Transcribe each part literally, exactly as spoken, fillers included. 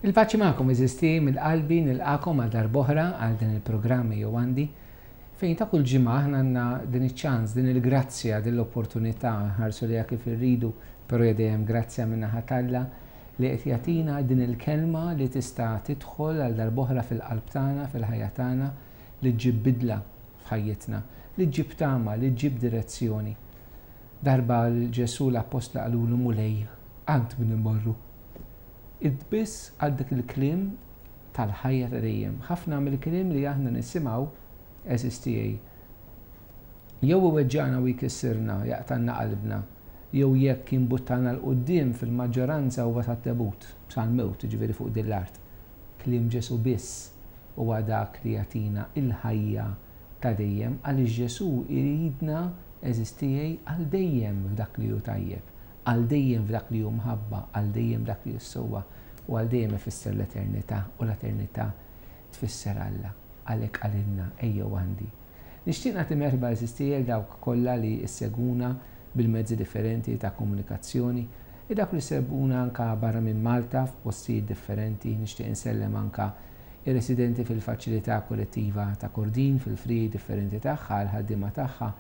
Il-paċi magħkom għeżież tiegħi, mill-qalbi nilqagħkom għal darb'oħra għal din il-programm Ejjew Għandi, fejn ta' kull ġimgħa aħna għandna din iċ-ċans, din il-grazzja, din l-opportunità, ħarsu lejha kif irridu, però dejjem grazzja min-naħa t'Alla li qed jagħtina din il-kelma li tista' tidħol għal darb'oħra fil-qalb tagħna, fil-ħajja tagħna, li ġġib bidla f'ħajjitna, li ġġib tama, li ġġib direzzjoni. Darba Ġesù l-appostli qalulu: "Mulej, għand min immorru? Int biss għandek il-kliem tal-ħajja ta' dejjem." Ħafna mill-kliem li aħna nisimgħu, għeżież tiegħi, jew iweġġagħna u jkissirna, jaqtgħalna qalbna, jew jekk jimbuttana 'l quddiem, fil-maġġoranza huwa tat-tebut, sal-mewt, ġifieri fuq din l-art. Kliem Ġesù biss huwa dak li jagħtina il-ħajja ta' dejjem, għaliex Ġesù iridna, għeżież tiegħi, għal dejjem f'dak li hu tajjeb, għal dejjem f'dak li hu mħabba, għal dejjem dak li hu sewwa, u għal dejjem ifisser l-eternità, u l-eternità tfisser Alla. Għalhekk qalilna: "Ejjew għandi." Nixtieq nagħti merħba, għeżież tiegħi, dawk kollha li ssegwuna bil-mezzi differenti ta' komunikazzjoni, e dak li segwuna anka barra minn Malta f'postijiet differenti. Nixtieq insellem anka ir-residenti fil-faċilità kollettiva ta' Kordin, fil-friegħi differenti tagħha, l-ħaddiema tagħha,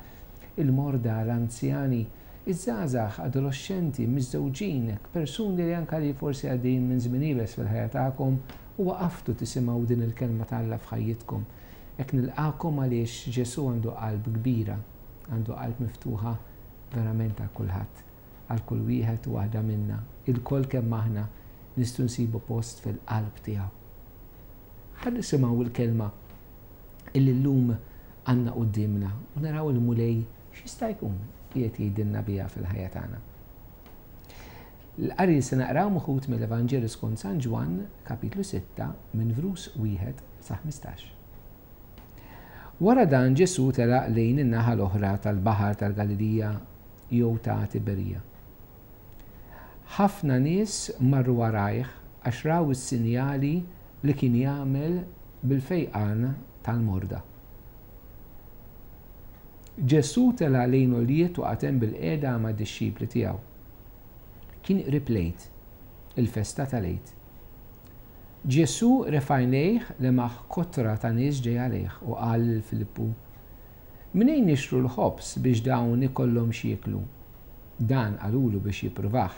il-morda, l-anzjani, iż-żgħażagħ, adolescenti, miżżewġin, persuni li anka li forsi għaddejjin minn żmien iebes fil-ħajja tagħkom u waqaftu tisimgħu din il-kelma t'Alla f'ħajjitkom. Hekk nilqagħkom għaliex Ġesù għandu qalb kbira, għandu qalb miftuħa verament għal kulħadd, għal kull wieħed u waħda minna. Ilkoll kemm aħna nistgħu nsibu post fil-qalb tiegħu. Ħa nisimgħu il-kelma illi llum għandna quddiemna u naraw il-Mulej x'jista' jkun qiegħed jgħidilna biha fil-ħajja tagħna. L-qari se naqraw meħud mill-Evanġelju skont San Ġwann, kapitlu sitta, minn vers wieħed sa ħmistax. Wara dan Ġesù telaq lejn in-naħa l-oħra tal-Baħar tal-Galilija jew ta' Tiberija. Ħafna nies marru warajh għax raw is-sinjali li kien jagħmel bil-fejqan tal-morda. Ġesù tela' lejn għoljiet u qagħad hemm bilqiegħda ma' dixxipli tiegħu. Kien qrib l-Għid, il-festa tal-Għid. Ġesù refa' għajnejh, lemaħ kotra ta' nies ġej għalih u qal lil Filippu: "Minejn nixtru l-ħobż biex dawn ikollhom x'jieklu?" Dan qalulu biex jippruvah,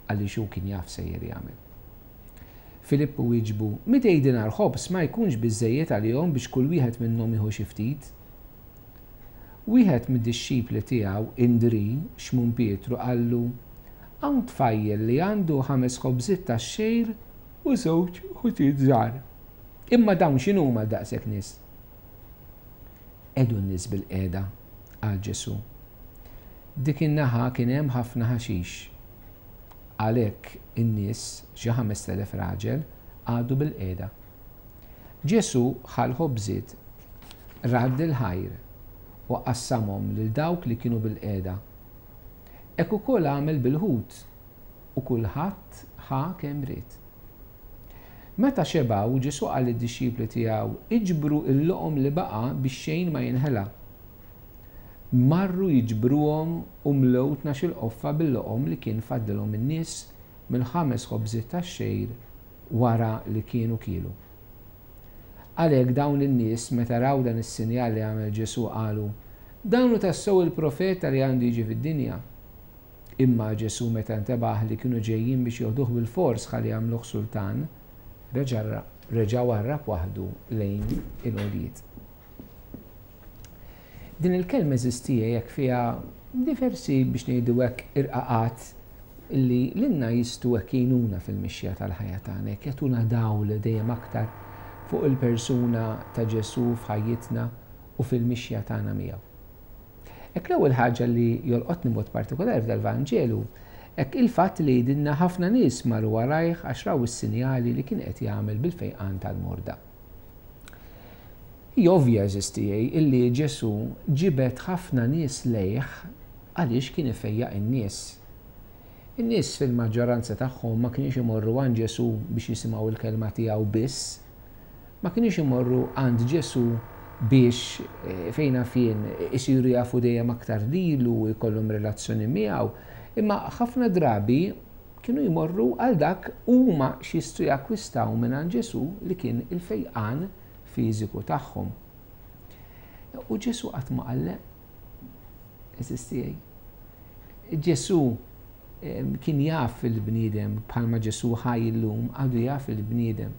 għaliex hu kien jaf x'sejjer jagħmel. Filippu wieġbu: "Mitej dinar ħobż ma jkunx biżejjed għalihom biex kull wieħed minnhom jieħu xi ftit." Wieħed mid-dixxipli tiegħu, Indri, Xmun Pietru, qallu: "Hawn tfajjel li għandu ħames ħobżiet tax-xgħir u żewġ ħutiet żgħar. Imma dawn x'inhuma għal daqshekk nies?" "Qiegħdu n-nies bilqiegħda," qal Ġesù. Dik in-naħa kien hemm ħafna ħaxix. Għalhekk in-nies, xi ħamest elef raġel, qagħdu bilqiegħda. Ġesù ħa l-ħobżiet, radd il-ħajr u qassamhom lil dawk li kienu bilqiegħda. Hekk ukoll għamel bil-ħut u kulħadd ħa kemm ried. Meta xebgħu, Ġesù qal lid-dixxipli tiegħu: "Iġbru il-loqom li baqa' biex xejn ma jinħela." Marru jiġbruhom u mlew tnax-il qoffa bil-loqom li kien fadlilhom in-nies mill-ħames ħobżiet tax-xgħir wara li kienu kielu. Għalhekk dawn in-nies, meta raw dan is-sinjal li għamel Ġesù, qalu: "Dan hu tassew il-profeta li għandu jiġi fid-dinja." Imma Ġesù, meta ntebaħ li kienu ġejjin biex joħduh bil-fors ħalli jagħmluh sultan, reġa' warrab waħdu lejn il-għoljiet. Din il-kelma, għeżież tiegħi, jekk fiha diversi, biex ngħidu hekk, irqaqat illi lilna jistgħu hekk jgħinuna fil-mixja tal-ħajja tagħna, jekk jagħtuna dawl dejjem aktar fuq il-persuna ta' Ġesù f'ħajjitna u fil-mixja tagħna miegħu. Hekk l-ewwel ħaġa li jolqotni mod partikolari f'dal-Vanġelu, hekk il-fatt li jgħidilna ħafna nies marru warajh għax raw is-sinjali li kien qed jagħmel bil-fejqan tal-morda. Hi ovvja, għeżież tiegħi, illi Ġesù ġibed ħafna nies lejh għaliex kien ifejjaq in-nies. In-nies fil-maġġoranza tagħhom ma kienx imorru għand Ġesù biex jisimgħu il-kelma tiegħu biss, ma kienx imorru għand Ġesù biex eh, fejna fien isiru jafu dejjem aktar lilu u jkollhom relazzjoni miegħu, imma ħafna drabi Kienu jmorru għal dak huma x'jistgħu jakkwistaw mingħand Ġesù li kien il-fejqan fiżiku tagħhom. U Ġesù qatt ma qal le. Għeżież tiegħi. Ġesù kien jaf il-bniedem bħalma Ġesù ħaj illum għadu jaf il-bniedem.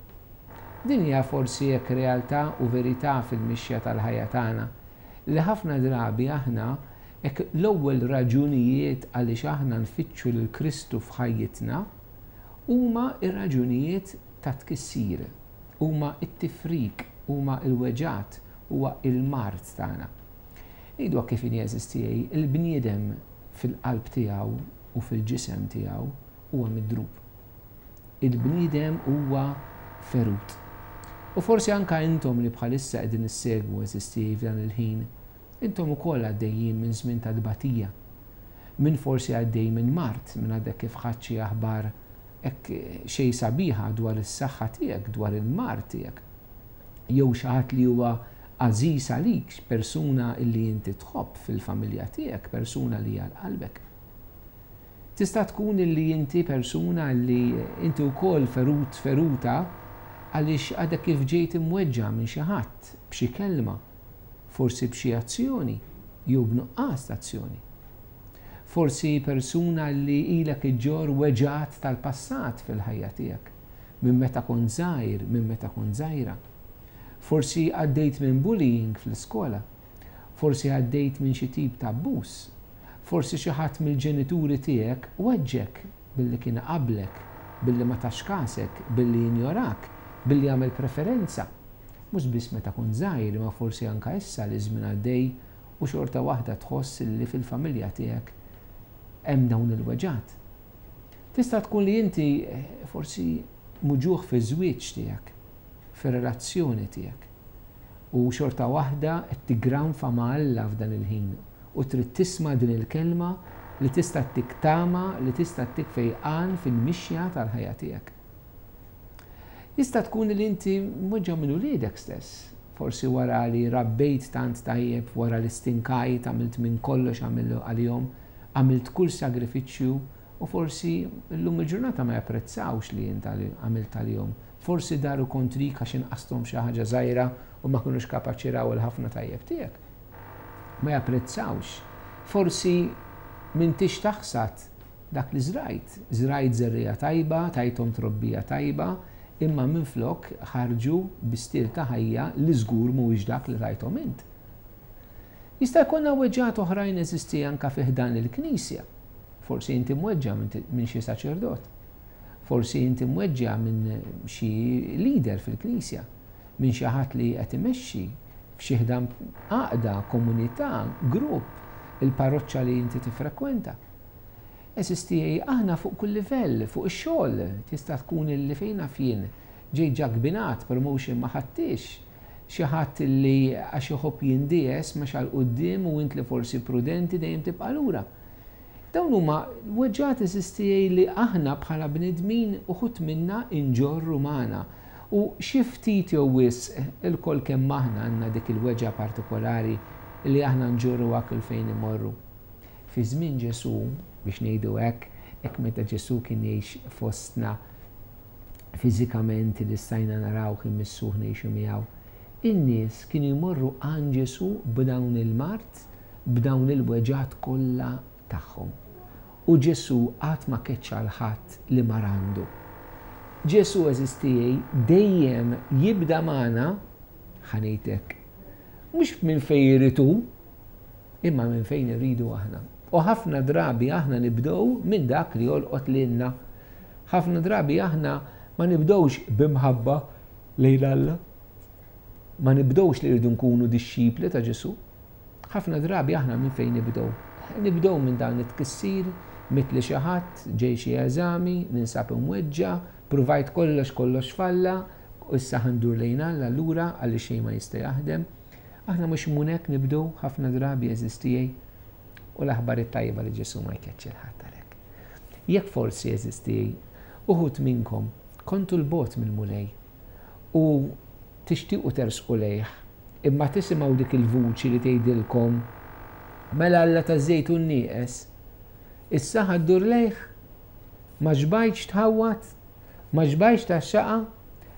Din hija forsi hekk realtà u verità fil-mixja tal-ħajja tagħna li ħafna drabi aħna hekk l-ewwel raġunijiet għaliex aħna nfittxu lil Kristu f'ħajjitna huma ir-raġunijiet ta' tkissir, huma t-tifrik, huma l-weġgħat, huwa il-mard tagħna. Ngħidu kif inhi għeżież tiegħi, il-bniedem fil-qalb tiegħu u fil-ġisem tiegħu huwa midrub. Il-bniedem huwa ferut. U forsi anka intom li bħalissa qegħdin issegwu għeżież tiegħi f'dan il-ħin, intom ukoll għaddejjin minn żmien ta' tbatija. Min forsi għaddej minn mard, min għadek kif ħadt xi aħbar hekk xejn sabiħa dwar is-saħħa tiegħek, dwar il-mard tiegħek. Jew xi ħadd li huwa għażiż għalik, persuna li inti tħobb fil-familja tiegħek, persuna li hija qalbek. Tista' tkun li inti persuna li inti wkoll ferut feruta għaliex għadek kif ġejt imweġġa' minn xi ħadd b'xi kelma, forsi b'xi azzjoni jew b'nuqqas ta' azzjoni. Forsi persuna li ilek iġġorr weġgħat tal-passat fil-ħajja tiegħek, minn meta kont żgħir, minn meta kont żgħira. Forsi għaddejt minn bullying fl-iskola, forsi għaddejt minn xi tip ta' abbuż, forsi xi ħadd mill-ġenituri tiegħek weġġek billi kien qablek, billi ma tax kasek, billi injorak, billi għamel preferenza. Mhux biss meta kont żgħir, ma forsi anka issa li żmien għaddej u xorta waħda tħoss li fil-familja tiegħek hemm dawn il-weġgħat. Tista' tkun li inti forsi muġugħ fiż-żwieġ tiegħek, fir-relazzjoni tiegħek. U xorta waħda qed tigranfa ma' Alla f'dan il-ħin u trid tisma' din il-kelma li tista' ttik tama, li tista' ttik fejqan fil-mixja tal-ħajja tiegħek. Jista' tkun li inti mweġġa' minn uliedek stess, forsi wara li rabbejt tant tajjeb, wara li stinkajt, għamilt minn kollox għalihom, għamilt kull sagrifiċċju u forsi llum il-ġurnata ma japprezzawx li int għamilt għalihom. Forsi daru kontrik għax inqasthom xi ħaġa żgħira u ma kinux kapaċi raw il-ħafna tajjeb tiegħek. Ma japprezzawx. Forsi m'intix taħsad dak li żrajt. Żrajt żerriegħa tajba, tajthom trobbija tajba, imma minflok ħarġu bi stil ta' ħajja li żgur mhuwiex dak li tajthom int. Jista' jkollna weġgħat oħrajn eżisti anka fi ħdan il-Knisja. Forsi inti mweġġa' minn xi saċerdot. Forsi inti mweġġa' minn xi leader fil-Knisja, minn xi ħadd li qed imexxi f'xi ħdan għaqda, komunità, grupp, il-parroċċa li inti tifrekwenta. Eżisti aħna fuq kull livell, fuq ix-xogħol, tista' tkun illi fejn naf jien ġejt ġakbinat, promotion ma ħadtix, xi ħadd li għax iħobb jindies mexa 'l quddiem u int li forsi prudenti dejjem tibqa' lura. Dawn huma weġgħat eżisti li aħna bħala bnedmin uħud minna inġorru magħna. U xi ftit jew wisq ilkoll kemm aħna għandna dik il-weġgħa partikolari li aħna nġorru kull fejn imorru. Fi żmien Ġesù, biex ngħidu hekk, hekk meta Ġesù kien jgħix fostna fiżikament li stajna narawh immissuh ngħixu miegħu, in-nies kienu jmorru għand Ġesù b'dawn il-mard, b'dawn il-weġgħat kollha tagħhom. U Ġesù qatt ma keċċa 'l ħadd li mar għandu. Ġesù għeżież tiegħi dejjem jibda magħna, ħa ngħid hekk, mhux minn fejn irid hu, imma minn fejn irridu aħna. U ħafna drabi aħna nibdew minn dak li jolqot lilna. Ħafna drabi aħna ma nibdewx b'imħabba lejn Alla. Ma nibdewx li rridu nkunu dixxipli ta' Ġesù. Ħafna drabi aħna minn fejn nibdew. Nibdew minn dan it-tkissir, mitli xi ħadd, ġej xi eżami, ninsab imweġġa', provajt kollox kollox falla, u issa ħa ndur lejn Alla lura għaliex xejn ma jista' jaħdem. Aħna mhux minn hekk nibdew ħafna drabi għeżież tiegħi. U l-aħbar it-tajba li Ġesù ma jkeċċi 'l ħadd għalhekk. Jekk forsi għeżież tiegħi, uħud minnkom kontu 'l bogħod mill-Mulej u tixtiequ tersqu lejh, imma tisimgħu dik il-vuċi li tgħidilkom mela Alla taż-żejtun nieqes, issa ħa ddur lejh, Ma xbajtx tħawwad? Ma xbajtx tgħaxxaqha?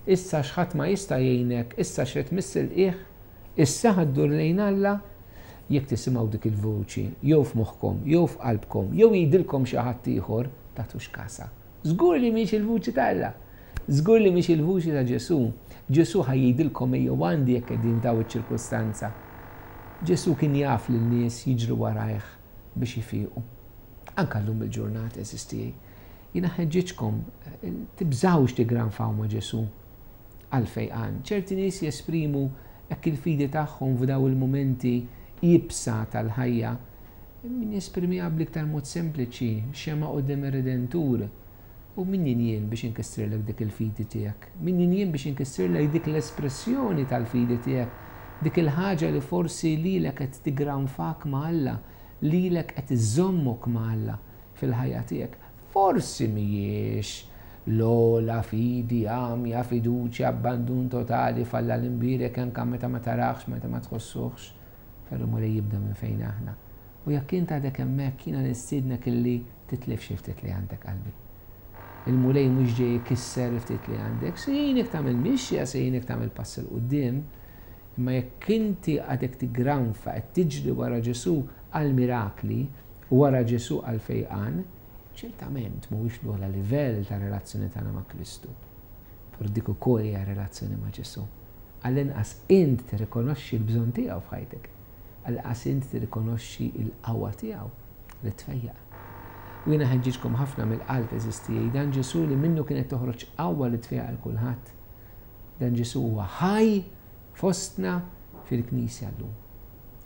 Issa x'ħadd ma jista' jgħinek, issa x'qed tmiss il-qiegħ, issa ħa ddur lejn Alla? Jekk tisimgħu dik il-vuċi, jew f'moħħkom, jew f'qalbkom, jew jgħidilkom xi ħadd ieħor, tagħtux kasha. Żgur li mhix il-vuċi ta' Alla. Żgur li mhix il-vuċi ta' Ġesù. Ġesù ħa jgħidilkom ejjew għandi jekk qegħdin f'daw iċ-ċirkustanza. Ġesù kien jaf li n-nies jiġru warajh biex ifiqu. Anka llum il-ġurnata, għeżież tiegħi. Jiena ħeġġiġkom, tibżgħux tigranfaw ma' Ġesù għal fejqan. Ċerti nies jesprimu hekk il-fidi tagħhom f'daw il-mumenti iebsa tal-ħajja. Min jesprimiha bl-iktar mod sempliċi, xema quddiem ir-Redentur. U min jien jien biex inkissirlek dik il-fidi tiegħek? Min jien jien biex inkissirlek dik l-espressjoni tal-fidi tiegħek? Dik il-ħaġa li forsi lilek qed tigranfak ma' Alla, lilek qed iżommok ma' Alla fil-ħajja tiegħek. Forsi mhijiex l-ogħla fidi, għamja, fiduċja, abbandun totali f'Alla l-imbierek anke meta ma taraħx, meta ma tħossuħx. Però Mulej jibda minn fejn aħna. U jekk int għadek hemmhekk, jiena nistiednek illi titlef xi ftit li għandek qalbi. Il-Mulej mhux ġej ikisser ftit li għandek, se jgħinek tagħmel mixja, se jgħinek tagħmel pass 'il quddiem, imma jekk inti għadek tigranfa qed tiġri wara Ġesù għal mirakli, wara Ġesù għal fejqan, ċertament mhuwiex l-ogħla livell ta' relazzjoni tagħna ma' Kristu. Però dik ukoll hija relazzjoni ma' Ġesù. Għall-inqas int tirrikonoxxi l-bżonn tiegħu f'ħajtek. Għall-inqas int tirrikonoxxi l-qawwa tiegħu li tfejjaq. U jiena ħeġġiġkom ħafna mill-qalb, għeżież tiegħi, dan Ġesù li minnu kienet toħroġ qawwa li tfejjaq għal kulħadd. Dan Ġesù huwa ħaj fostna fil-Knisja llum.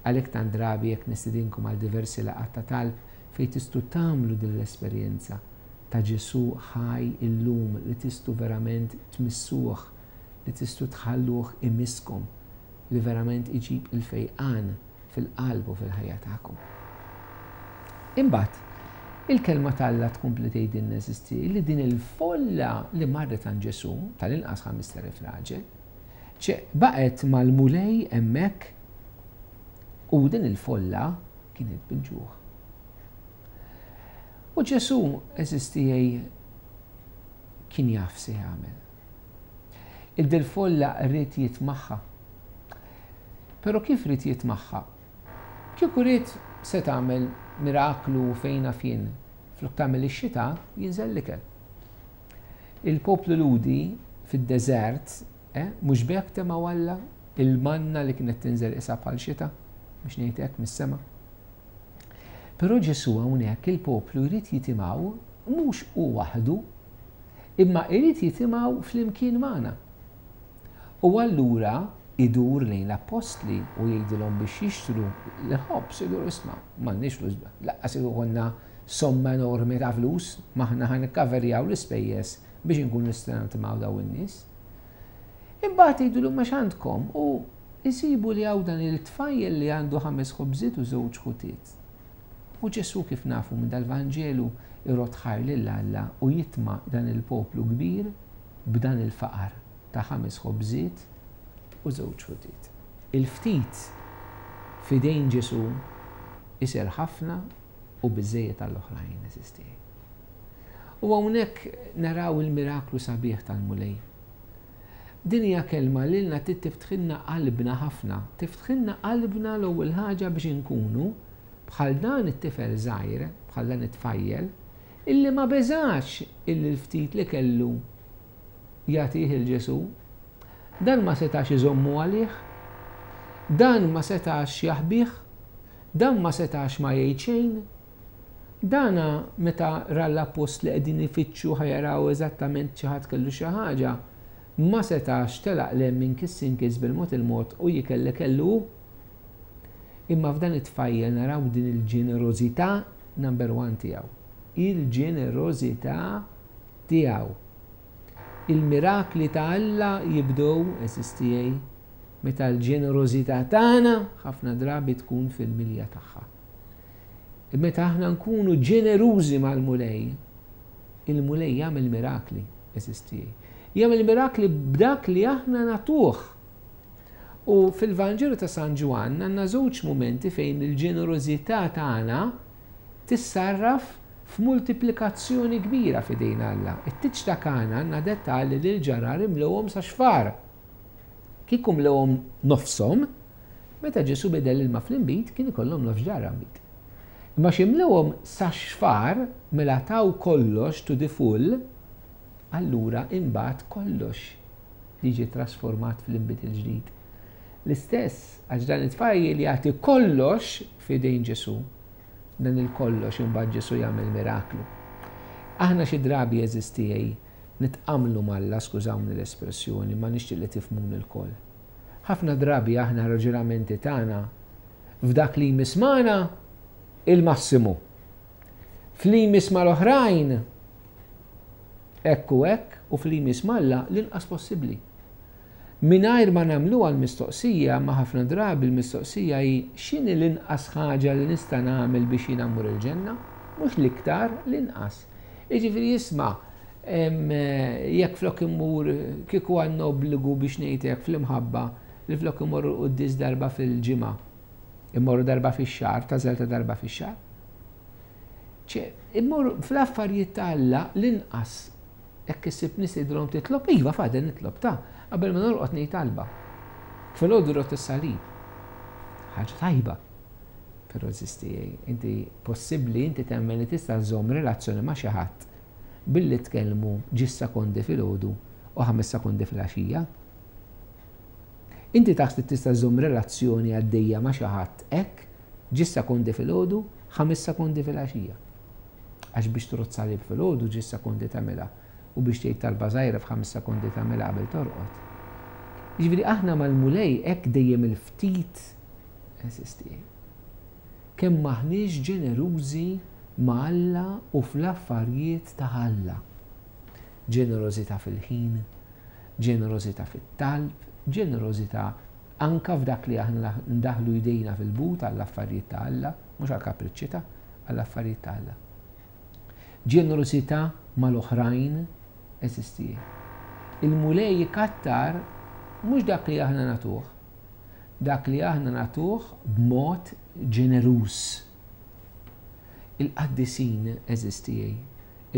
Għalhekk tant drabi jekk nistedinkom għal diversi laqgħat ta' talb fejn tistgħu tagħmlu din l-esperjenza ta' Ġesù ħaj illum li tistgħu verament tmissuh, li tistgħu tħalluh imisskom, li verament iġib il-fejqan fil-qalb u fil-ħajja tagħkom. Imbagħad, il-kelma t'Alla tkompli tgħidilna, għeżież tiegħi, li din il-folla li marret għand Ġesù, tal-inqas ħamest elef raġel, ċe baqgħet mal-Mulej hemmhekk u din il-folla kienet bil-ġuħ. U Ġesù, għeżież tiegħi, kien jaf se jagħmel. Il-folla ried jitmagħha. Però kif ried jitmagħha? Kieku ried se tagħmel miraklu fejn fien, flok tagħmel ix-xita jinżel l-ikel. Il-poplu Lhudi fid-deżert, eh, mhux b'hekk temgħu Alla il-manna li kienet tinżel isa bħal xita, biex ngħid hekk mis-sema. Però Ġesù hawnhekk il-poplu jrid jitimgħu mhux hu waħdu, imma jrid jitimgħu flimkien magħna. U allura idur lejn l-appostli u jgħidilhom biex jixtru l-ħobż, idur isma' m'għandniex flus, lanqas konna somma enormi ta' flus, m'aħna ħa nikkaverjaw l-ispejjeż biex inkunu nistgħu nitimgħu daw in-nies. Imbagħad jgħidulu ma x'għandkom u jsibu li hawn dan il-tfajjel li għandu ħames ħobżiet u żewġ ħutiet. U Ġesù, kif nafu minn dal-Vanġelu, irodd ħajr lil Alla u jitma' dan il-poplu kbir b'dan il-faqar ta' ħames ħobżiet u żewġ ħutiet. Il-ftit f'idejn Ġesù isir ħafna u biżejjed għall-oħrajn, għeżież tiegħi. U hawnhekk naraw il-miraklu sabiħ tal-Mulej. Din hija kelma li lilna tiftħilna qalbna ħafna, tiftħilna qalbna l-ewwel ħaġa biex inkunu bħal dan it-tifel żgħir, bħal dan it-tfajjel, illi ma beżax illi l-ftit li kellu jagħtih lil Ġesù. Dan ma setax iżommu għalih, dan ma setax jaħbih, dan ma setax ma jgħid xejn. Dana meta ra l-appostli qegħdin ifittxu ħa jaraw eżattament xi ħadd kellu xi ħaġa, ma setax telaq 'l hemm inkiss inkiss bil-mod il-mod u jikel li kellu. Imma f'dan it-tfajjel naraw din il-ġenerożità number one tiegħu. Il-ġenerożità tiegħu. Il-mirakli ta' Alla jibdew, għeżież tiegħi, meta l-ġenerożità tagħna ħafna drabi tkun fil-milja tagħha. Meta aħna nkunu ġenerużi mal-Mulej, il-Mulej jagħmel mirakli, għeżież tiegħi. Jagħmel mirakli b'dak li aħna nagħtuh. U fil-Vanġelu ta' San Ġwann għandna żewġ mumenti fejn il-ġenerożità tagħna tissarraf f'multiplikazzjoni kbira f'idejn Alla. It-tieġ ta' Kana għandna dettalji li l-ġarar imlewhom sa xfar. Kieku mlewhom nofshom, meta Ġesù bidel ilma fl-inbid kien ikollhom nofs ġarra nbid. Imma x'imlewhom sa xfar mela taw kollox to the full, allura imbagħad kollox jiġi trasformat fl-inbid il-ġdid. L-istess, għax dan it-tfajjel jagħti kollox f'idejn Ġesù. Dan il-kollox imbagħad Ġesù jagħmel miraklu. Aħna xi drabi għeżież tiegħi nitqamlu m'Alla, skużawni l-espressjoni, ma nixtieq li tifhmuni lkoll. Ħafna drabi aħna raġunamenti tagħna f'dak li jmiss magħna il-massimu. F'li jmiss mal-oħrajn hekk u hekk u f'li jmiss m'Alla l-inqas possibbli. Mingħajr ma nagħmluha l-mistoqsija, ma ħafna drabi l-mistoqsija hi x'inhi l-inqas ħaġa li nista' nagħmel biex jiena mmur il-ġenna? Mhux l-iktar, l-inqas. Jiġifieri isma' jekk flok immur kieku għandna obbligu biex ngħid hekk fl-imħabba li flok immorru l-quddies darba fil-ġimgħa, immorru darba fix-xahar, tagħżel ta' darba fix-xahar. Ċe, immorru fl-affarijiet ta' Alla l-inqas. Jekk issib nies jgħidulhom titlob, iva Father nitlob ta' qabel ma norqod ngħid talba. Filgħodu rott is-salib. Ħaġa tajba. Però għeżież tiegħi, inti possibbli inti temmen li tista' żżomm relazzjoni ma' xi ħadd billi tkellmu ġis sekondi filgħodu u ħames sekondi filgħaxija. Inti taħseb li tista' żżomm relazzjoni għaddejja ma' xi ħadd hekk ġis sekondi filgħodu, ħames sekondi filgħaxija. Għax biex trodd salib filgħodu ġis sekondi tagħmilha u biex tgħid talba żgħira f'ħames sekondi tagħmilha qabel torqod. Jiġifieri aħna mal-Mulej hekk dejjem il-ftit għeżież tiegħi. Kemm maħniex ġenerużi ma' Alla u fl-affarijiet ta' Alla. Ġenerożità fil-ħin, ġenerożità fit-talb, ġenerożità anka f'dak li aħna ndaħlu jdejna fil-but għall-affarijiet ta' Alla, mhux għall-kapriċċi ta' għall-affarijiet ta' Alla. Ġenerożità mal-oħrajn għeżież tiegħi. Il-Mulej jikattar mhux dak li aħna nagħtuh, dak li aħna nagħtuh b'mod ġeneruż. Il-qaddisin għeżież tiegħi,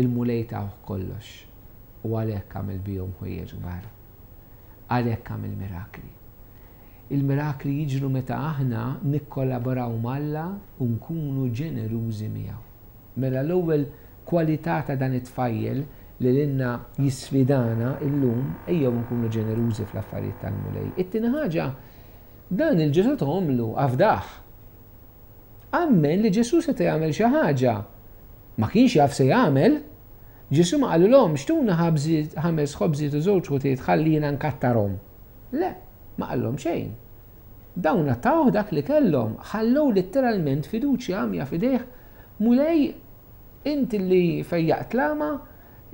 il-Mulej tawh kollox u għalhekk għamel bihom ħwejjeġ kbar. Għalhekk għamel mirakli. Il-mirakli jiġru meta aħna nikkollaboraw m'Alla u nkunu ġenerużi miegħu. Mela l-ewwel kwalità ta' dan it-tfajjel li lilna jisfidana illum, ejjew nkunu ġenerużi fl-affarijiet tal-Mulej. It-tieni ħaġa, dan il-Ġesù tomlu afdah. Ammen li Ġesù seta' jagħmel xi ħaġa. Ma kienx jaf se jagħmel. Ġesù ma qalilhom xtuna ħames ħobżiet u żewġ ħutiet ħalli jiena nkattarhom. Le, ma qallhom xejn. Dawn tawh dak li kellhom, ħallew letteralment fiduċja għamja f'idejh. Mulej, inti li fejjaqt l-għama,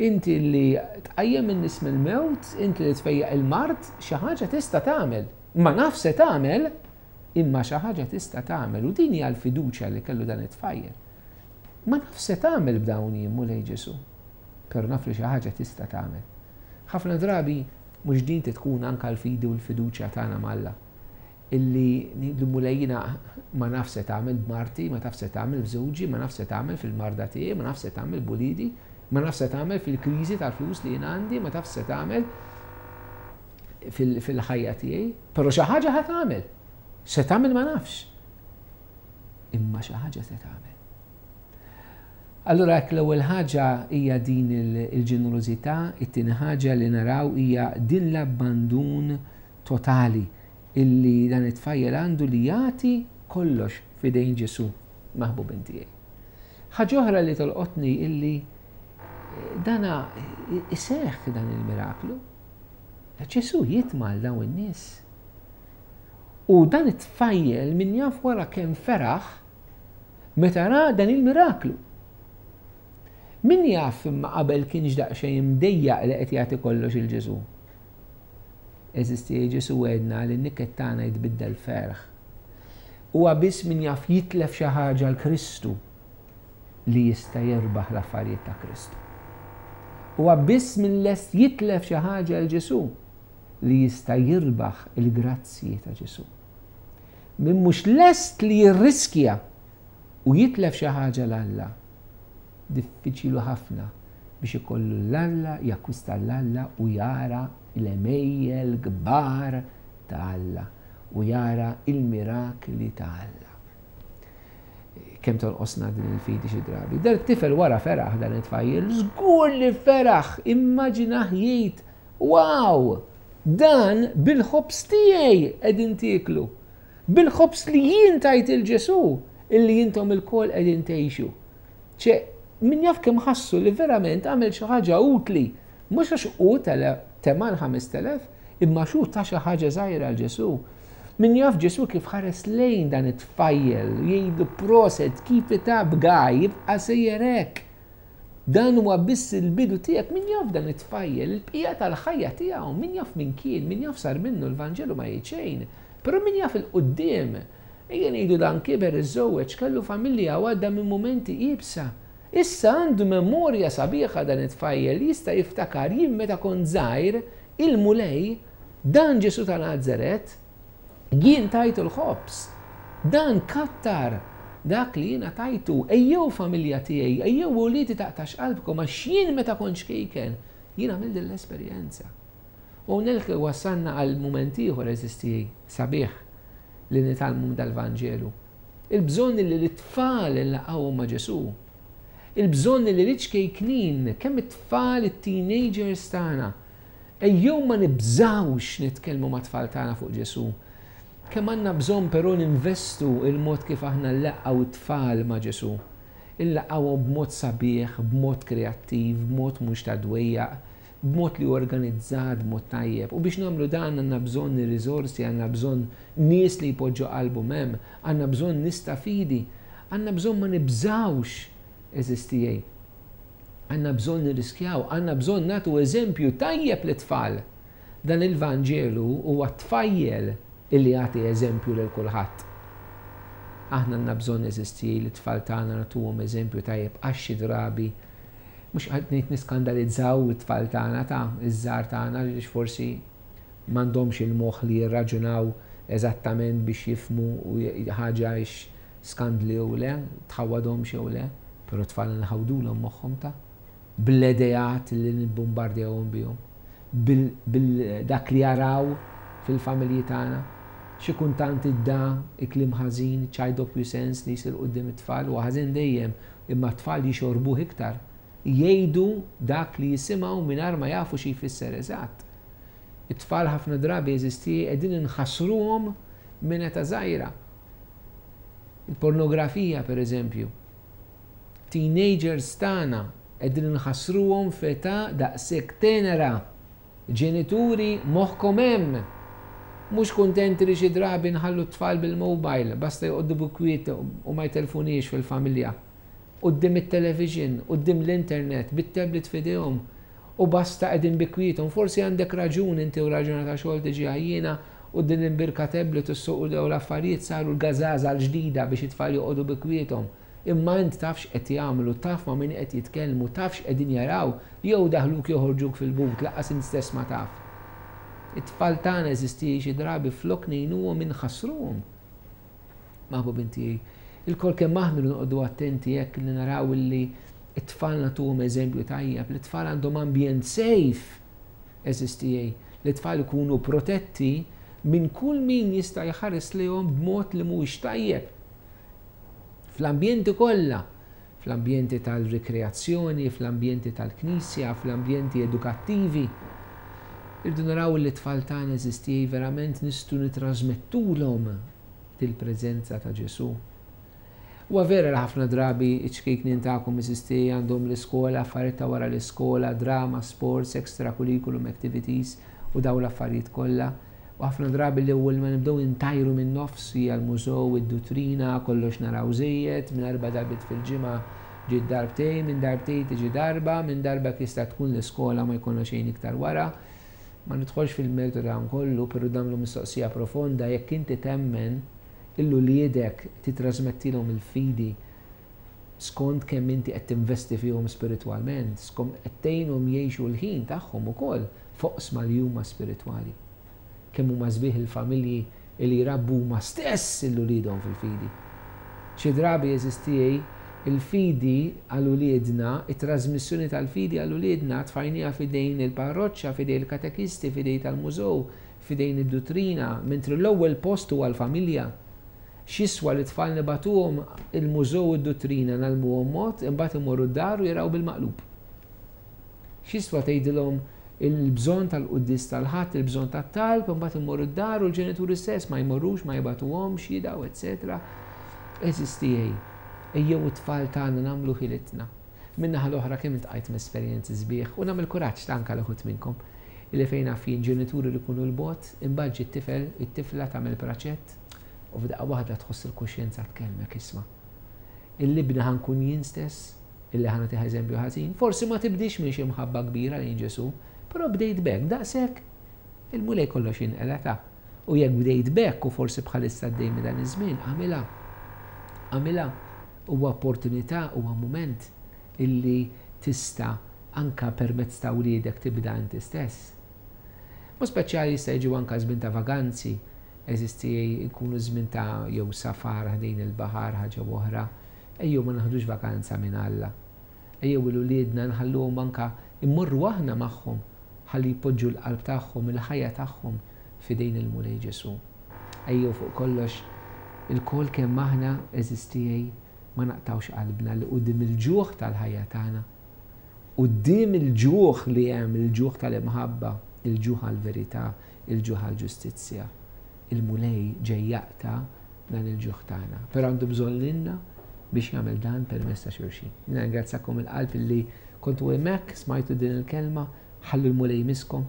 inti li tqajjem in-nies mill-mewt, inti li tfejjaq il-mard, xi ħaġa tista' tagħmel. Ma naf se tagħmel, imma xi ħaġa tista' tagħmel. U din hija l-fiduċja li kellu dan it-tfajjel. Ma naf se tagħmel b'dawn jien, Mulej Ġesù, però naf li xi ħaġa tista' tagħmel. Ħafna drabi mhux din tkun anke l-fidi u l-fiduċja tagħna m'Alla. Illi ngħidlu Mulej jiena ma naf se tagħmel b'marti, ma taf se tagħmel f'żewġi, ma naf se tagħmel fil-marda tiegħi, ma naf se tagħmel b'uliedi, ma naf se tagħmel fil-kriżi tal-flus li jien għandi, ma taf se tagħmel fil-ħajja tiegħi, però xi ħaġa ħa tagħmel. Se tagħmel ma nafx. Imma xi ħaġa se tagħmel. Allura hekk l-ewwel ħaġa hija din il-ġenerożità, it-tieni ħaġa li naraw hija din l-abbandun totali illi dan it-tfajjel għandu li jagħti kollox f'idejn Ġesù, maħbubin tiegħi. Ħaġa oħra li tolqotni illi dana iseħħ dan il-miraklu. Ġesù jitma' għal dawn in-nies. U dan it-tfajjel min jaf wara kemm feraħ meta ra dan il-miraklu. Min jaf imma qabel kienx daqsxejn imdejjaq li qed jagħti kollox il Ġesù. Għeżież tiegħi Ġesù wegħedna li n-niket tagħna jitbiddel ferħ. Huwa biss min jaf jitlef xi ħaġa l Kristu li jista' jirbaħ l-affarijiet ta' Kristu. Huwa biss min lest jitlef xi ħaġa l Ġesù li jista' jirbaħ il-grazzji ta' Ġesù. Min mhux lest li jirriskja u jitlef xi ħaġa l Alla, Diffiċli ħafna biex ikollu 'l Alla, jakkwista 'l Alla u jara l-għemejjel kbar ta' Alla u jara il-mirakli ta' Alla. Kemm tonqosna din il-fidi xi drabi. Dan it-tifel wara feraħ, dan it-tfajjel, żgur li feraħ, immaġinah jgħid, "Wow, dan bil-ħobż tiegħi qegħdin tieklu. Bil-ħobż li jien tajt lil Ġesù illi intom ilkoll qegħdin tgħixu." ċe, min jaf kemm ħassu li verament għamel xi ħaġa utli, mhux għax hu tema l-ħamest elef, imma xu ta xi ħaġa żgħira għal Ġesù. Min jaf Ġesù kif ħares lejn dan it-tfajjel, jgħidu, "Prosit, keep it up, guy, jibqa' sejjer hekk. Dan huwa biss il-bidu tiegħek." Min jaf dan it-tfajjel, il-bqija tal-ħajja tiegħu, min jaf min kien, min jaf sar minnu, l-Vanġelu ma jgħid xejn. Però min jaf 'il quddiem, ejja ngħidu dan kiber, iżżewweġ, kellu familja u għadda minn momenti iebsa. Issa għandu memorja sabiħa dan it-tfajjel, jista' jiftakar, "Jien meta kont żgħir, il-Mulej, dan Ġesù ta' Nazaret, jien tajtu l-ħobż. Dan kattar dak li jiena tajtu. Ejjew familja tiegħi, ejjew uliedi, taqtgħux qalbkom, għax jien meta kont ċkejken, jien għamilt l-esperjenza." U hawnhekk wasalna għal mument ieħor, għeżież tiegħi, sabiħ li nitgħallmu dal-Vanġelu. Il-bżonn li l-tfal nlaqqgħuhom ma' Ġesù. Il-bżonn li l-ċkejknin, kemm it-tfal, it-teenagers tagħna, ejjew ma nibżawx nitkellmu ma' tfal tagħna fuq Ġesù. Kemm għandna bżonn però ninvestu il-mod kif aħna nlaqqgħu it-tfal ma' Ġesù. Inlaqqgħuhom b'mod sabiħ, b'mod kreattiv, b'mod mhux ta' dwejjaq, b'mod li organizzat, b'mod tajjeb. U biex nagħmlu dan għandna bżonn riżorsi, għandna bżonn nies li jpoġġu qalbhom hemm, għandna bżonn nies ta' fidi, għandna bżonn ma nibżawx, għeżież tiegħi. Għandna bżonn nirriskjaw, għandna bżonn nagħtu eżempju tajjeb lit-tfal. Dan il-Vanġelu huwa tfajjel illi jagħti eżempju lil kulħadd. Aħna għandna bżonn, għeżież tiegħi, li tfal tagħna nagħtuhom eżempju tajjeb, għax xi drabi mhux qed ngħid niskandalizzaw it-tfal tagħna, ta' iż-żgħar tagħna, għax forsi m'għandhomx il-moħħ li jirraġunaw eżattament biex jifhmu ħaġa skandli jew le, tħawwadhomx jew le, però tfal nħawdulhom moħħhom ta' bl-ideat li nibbombardjawhom bihom, bil-dak li jaraw fil-familji tagħna. Xi kultant id-da il-kliem ħażin, ċajt doppju sens li jsir quddiem it-tfal, u ħażin dejjem, imma t-tfal jixorbuh iktar. Jgħidu dak li jisimgħu mingħajr ma jafu xi jfisser eżatt. It-tfal ħafna drabi, għeżież tiegħi, qegħdin inħassruhom minn età żgħira. Il-pornografija, per eżempju. Teenagers tagħna qegħdin inħassruhom f'età daqshekk tenera. Ġenituri, moħħkom hemm. Mhux kuntenti li xi drabi nħallu t-tfal bil-mobile, basta joqogħdu bi kwiet u ma jtelfuniex fil-familja. Quddiem it-television, quddiem l-internet, bit-tablet f'idejhom u basta qegħdin bi kwietom. Forsi għandek raġun inti u raġuna ta' xogħol tiġi għajjiena u din imbierka tablet u s-suq u l-affarijiet saru l-gażaża l-ġdida biex it-tfal joqogħdu bi kwietom. Imma int tafx qed jagħmlu, taf ma' min qed jitkellmu, tafx qegħdin jaraw, jew daħluk joħorġuk fil-but, lanqas int stess ma taf. It-tfal tagħna, għeżież tiegħi, xi drabi flok ngħinuhom inħassruhom. Maħbubin tiegħi, ilkoll kemm aħna noqogħdu attenti hekk li naraw li it-tfal nagħtuhom eżempju tajjeb, li t-tfal għandhom ambjent safe, għeżież tiegħi, li t-tfal ikunu protetti minn kull min jista' jħares lejhom b'mod li mhuwiex tajjeb. Fl-ambjenti kollha, fl-ambjenti tal-rikreazzjoni, fl-ambjenti tal-knisja, fl-ambjenti edukattivi. Irridu naraw li t-tfal tagħna, għeżież tiegħi, verament nistgħu nitrasmettulhom il-preżenza ta' Ġesù. U vera li ħafna drabi iċ-ċkejknin tagħkom, għeżież tiegħi, għandhom l-iskola, affarijiet ta' wara l-iskola, drama, sports, extracurriculum activities u daw l-affarijiet kollha. U ħafna drabi li ewwel ma nibdew intajru minn nofs hija l-mużew, id-duttrina, kollox naraw żejjed, minn erba' darbiet fil-ġimgħa ġi darbtejn, minn darbtejn tiġi darba, minn darba jista' tkun l-iskola, ma jkollna xejn iktar wara. Ma nidħolx fil-mertu dan kollu, però nagħmlu mistoqsija profonda: jekk inti temmen lil uliedek titrasmettilhom il-fidi skont kemm inti qed tinvesti fihom spiritwalment, skont qed tgħinhom jgħixu l-ħin tagħhom ukoll f'oqsma li huma spiritwali. Kemm huma sbieħ il-familji li jrabbu huma stess lil uliedhom fil-fidi. Xi drabi, għeżież tiegħi, Il-fidi għal uliedna, it-trasmissjoni tal-fidi għal uliedna tfajnieha f'idejn il-parroċċa, f'idejn il-katekisti, f'idejn tal-mużew, f'idejn id-duttrina, mentri l-ewwel post huwa l-familja. X'jiswa li tfal nibagħtuhom il-mużew u d-duttrina ngħallmuhom mod, imbagħad imorru d-dar u jaraw bil-maqlub. X'jiswa tgħidilhom il-bżonn tal-quddies tal-Ħadd, il-bżonn tat-talb, imbagħad imorru d-dar u l-ġenituri stess ma jmorrux, ma jibagħtuhomx, jidaw, eċetera. Għeżież tiegħi, ejjew it-tfal tagħna nagħmlu ħilitna. Min-naħa l-oħra kemm iltqajt m'esperjenzi sbieħ u nagħmel kuraġġ ta' anke l uħud minnkom illi fejn naf jien ġenituri li jkunu 'l bogħod, imbagħad ġie t-tifel, it-tifla tagħmel praċett u f'daqqa waħda tħoss il-kuxjenza tkellmek isma'. Il-libna ħa nkun jien stess, illi ħa nagħtiha eżempju ħażin. Forsi ma tibdix minn xi mħabba kbira lejn Ġesu, però bdejt b'hekk, daqshekk il-Mulej kollox jinqela ta' U jekk bdejt b'hekk u forsi bħalissa għaddej minn dan iż-żmien, għamilha. Għamilha huwa opportunità, huwa mument illi tista' anka permezz ta' wliedek tibda inti stess. Mu speċjali jista' jiġu anka żmien ta' vaganzi, għeżież tiegħi jkunu żmien ta' jew safar ħdejn il-baħar ħaġa oħra. Ejjew ma naħdux vakanza minn Alla. Ejjew 'l uliedna nħalluhom anka immorru aħna magħhom ħalli jpoġġu l-qalb tagħhom, il-ħajja tagħhom f'idejn il-Mulej Ġesu. Ejjew fuq kollox ilkoll kemm aħna għeżież tiegħi ma naqtgħux qalbna li quddiem il-ġuħ tal-ħajja tagħna. Quddiem il-ġuħ li hemm, il-ġuħ tal-imħabba, il-ġuħ għal-verità, il-ġuħ għal-ġustizzja. Il-Mulej ġej jaqta' dan il-ġuħ tagħna. Però għandu bżonn lilna biex jagħmel dan permezz ta' xulxin. Nirringrazzakom il-qalb li kontu hemmhekk, smajtu din il-kelma, ħallu l-Mulej jmisskom.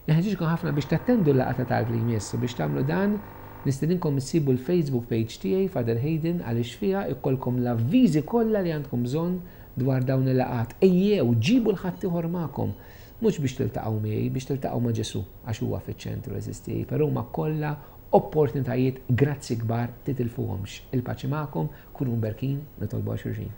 Nħeġġiġkom ħafna biex tattendu l-laqgħa ta' talb li jmiss u biex tagħmlu dan nistedinkom issibu l-Facebook page tiegħi Father Hayden għaliex fiha ikollkom l-avviżi kollha li għandkom bżonn dwar dawn il-laqgħat. Ejjew, ġibu 'l ħaddieħor magħkom. Mhux biex tiltaqgħu miegħi, biex tiltaqgħu ma' Ġesu għax huwa fiċ-ċentru għeżież tiegħi, però huma kollha opportunitajiet grazzi kbar titilfuhomx. Il-paċi magħkom, kunu mberkin, nitolbu għal xulxin.